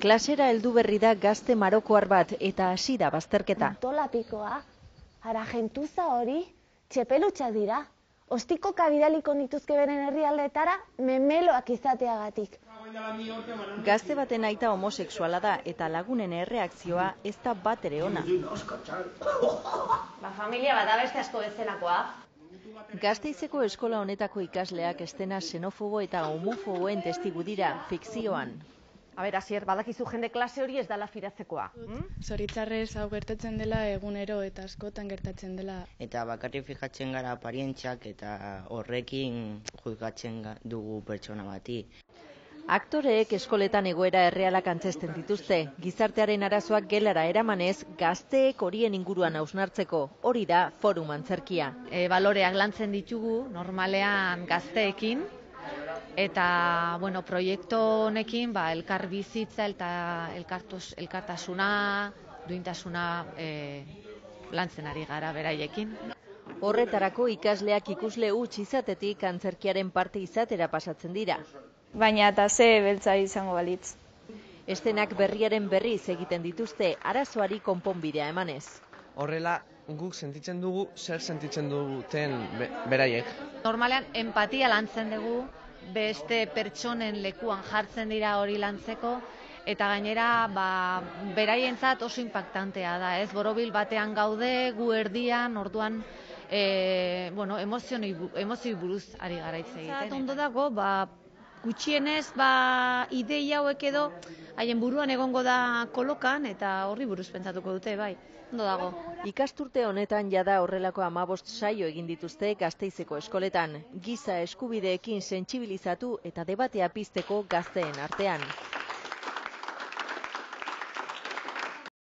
Klasera heldu berri da gazte marokoar bat eta hasi da bazterketa. Tolapikoa, ara gentuza hori, txepelutxak dira. Ostikoka bidaliko nituzke beren herrialdeetara memeloak izateagatik. Gazte baten aita homosexuala da eta lagunen erreakzioa ez da bat ere ona. Familia bat da beste asko bezalakoa. Gasteizeko eskola honetako ikasleak estena xenofobo eta homofoboen testigu dira fikzioan. Asier, badakizu jende klase hori ez dala firatzekoa. Zoritzarrez hau gertatzen dela egunero eta askotan gertatzen dela. Eta bakarrik fijatzen gara aparientziak eta horrekin juzgatzen dugu pertsona bati. Aktoreek eskoletan egoera errealak antzesten dituzte. Gizartearen arazoak gelara eramanez, gazteek horien inguruan hausnartzeko. Hori da forum antzerkia. Baloreak lantzen ditugu normalean gazteekin. Eta, proiektu honekin, elkar bizitza eta elkartasuna, duintasuna lantzen ari gara beraiekin. Horretarako ikasleak ikusle huts izatetik antzerkiaren parte izatera pasatzen dira. Baina eta ze beltza izango balitz. Estenak berriaren berriz egiten dituzte arazoari konponbidea emanez. Horrela, guk sentitzen dugu zer sentitzen duten beraiek. Normalean empatia lantzen dugu, beste pertsonen lekuan jartzen dira hori lantzeko, eta gainera beraientzat oso impactantea da, ez? Borobil batean gaude, gu erdian, orduan emozioi buruz ari gara hitz egiten. Ondo dago, gutxienez ideia hauek edo haien buruan egongo da kolokan eta horri buruz pentsatuko dute, bai. Ondo dago. Ikasturte honetan jada horrelako 15 saio egin dituzte Gasteizeko eskoletan, giza eskubideekin sentsibilizatu eta debatea pizteko gazteen artean.